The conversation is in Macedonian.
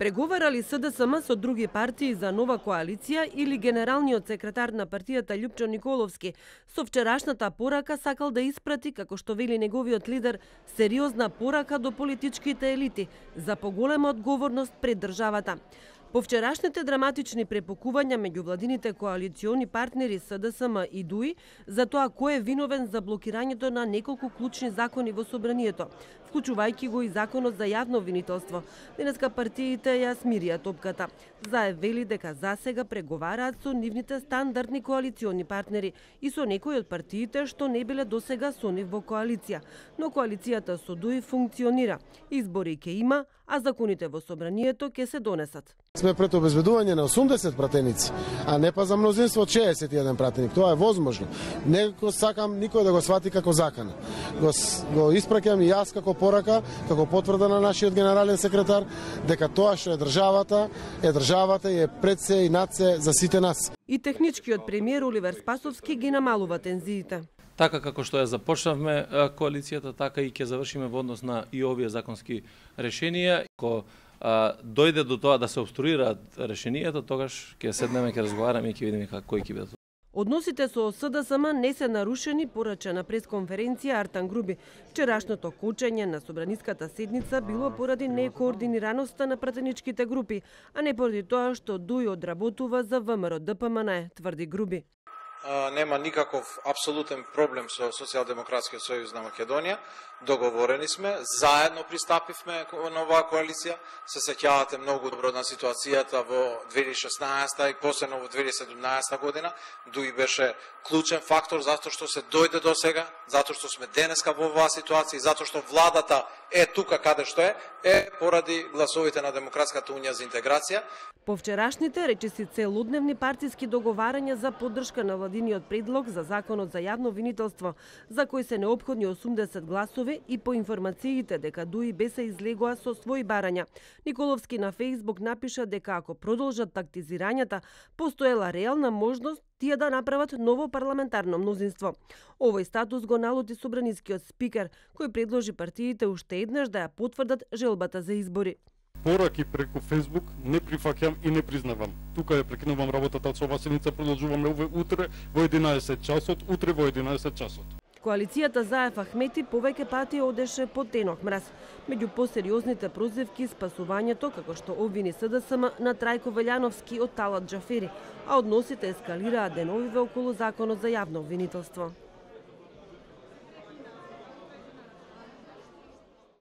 Преговарали СДСМ со други партии за нова коалиција или генералниот секретар на партијата Љупчо Николовски со вчерашната порака сакал да испрати, како што вели неговиот лидер, сериозна порака до политичките елити за поголема одговорност пред државата. По вчерашните драматични препукувања меѓу владините коалициони партнери СДСМ и ДУИ за тоа кој е виновен за блокирањето на неколку клучни закони во собранието, вклучувајќи го и законот за јавно обвинителство, денеска партиите ја смирија топката. Заявили дека засега преговараат со нивните стандардни коалициони партнери и со некои од партиите што не биле досега со нив во коалиција, но коалицијата со ДУИ функционира. Избори ќе има, а законите во собранието ќе се донесат. Сме пред обезбедување на 80 пратеници, а не па за мнозинство 61 пратеник. Тоа е возможно. Некако сакам никој да го свати како закана. Го испраќам и јас како порака, како потврда на нашиот генерален секретар, дека тоа што е државата и е пред се и над се за сите нас. И техничкиот премиер Оливер Спасовски ги намалува тензиите. Така како што ја започнавме коалицијата, така и ќе завршиме во однос на и овие законски решенија. Ако дојде до тоа да се обструираат решенијата, тогаш ќе седнеме, ќе разговараме и ќе видиме кои ќе бидат. Односите со СДСМ не се нарушени, порача на пресконференција Артан Груби. Вчерашното кочење на собраниската седница било поради некоординираноста на пратеничките групи, а не поради тоа што ДУИ одработува за ВМРО ДПМН, тврди Груби. Нема никаков апсолутен проблем со Социјалдемократскиот сојуз на Македонија. Договорени сме, заедно пристапивме на оваа коалиција. Се сеќавате многу добро на ситуацијата во 2016 и посебно во 2017 година. ДУИ беше клучен фактор затоа што се дојде до сега, затоа што сме денеска во оваа ситуација и затоа што владата е тука каде што е поради гласовите на Демократската унија за интеграција. По вчерашните речиси целодневни партиски договарања за поддршка на владиниот предлог за законот за јавно обвинителство, за кој се неопходни 80 гласови и по информациите дека ДУИ се излегоа со своји барања. Николовски на Фејсбук напиша дека ако продолжат тактизирањата, постоела реална можност тие да направат ново парламентарно мнозинство. Овој статус го налути собранискиот спикер, кој предложи партиите уште еднаш да ја потврдат желбата за избори. Пораки преку Фејсбук не прифаќам и не признавам. Тука ја прекинувам работата со оваа седница, продолжуваме утре во 11 часот, утре во 11 часот. Коалицијата за Еф Ахмети повеќе пати одеше по тенок мраз. Меѓу посериозните прозивки спасувањето, како што обвини СДСМ на Трајко Велјановски од Талат Џафери, а односите ескалираа деновиве околу законот за јавно обвинителство.